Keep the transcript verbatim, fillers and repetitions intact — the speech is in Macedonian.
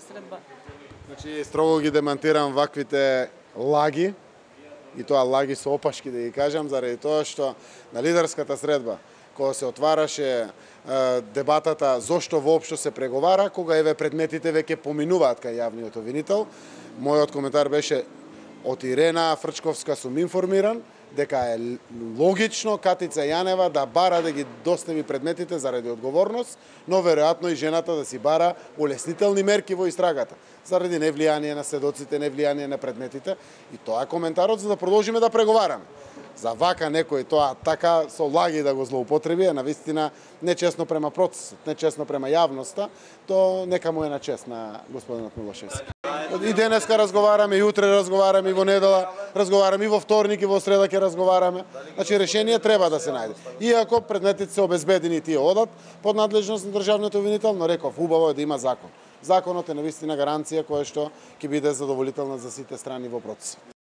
Средба. Значи, строго ги демантирам ваквите лаги, и тоа лаги со опашки да ги кажам, заради тоа што на лидерската средба, кога се отвараше е, дебатата зошто воопшто се преговара, кога еве предметите веќе поминуваат кај јавниот обвинител, мојот коментар беше од Ирена Фрчковска сум информиран дека е логично Катица Јанева да бара да ги достави предметите заради одговорност, но веројатно и жената да си бара улеснителни мерки во истрагата, заради невлијание на сведоците, невлијание на предметите, и тоа е коментарот за да продолжиме да преговараме. За вака некој тоа така со лаги да го злоупотреби е навистина нечесно према процесот, нечесно према јавноста, то нека му е на чест на господинот Милошевски. И денеска разговараме, и утре разговараме, и во недела разговараме, и во вторник, и во среда ќе разговараме. Значи решение треба да се најде. Иако предметите се обезбедени, тие одат под надлежност на државниот обвинител, но реков, убаво е да има закон. Законот е навистина гаранција која што ќе биде задоволителна за сите страни во процесот.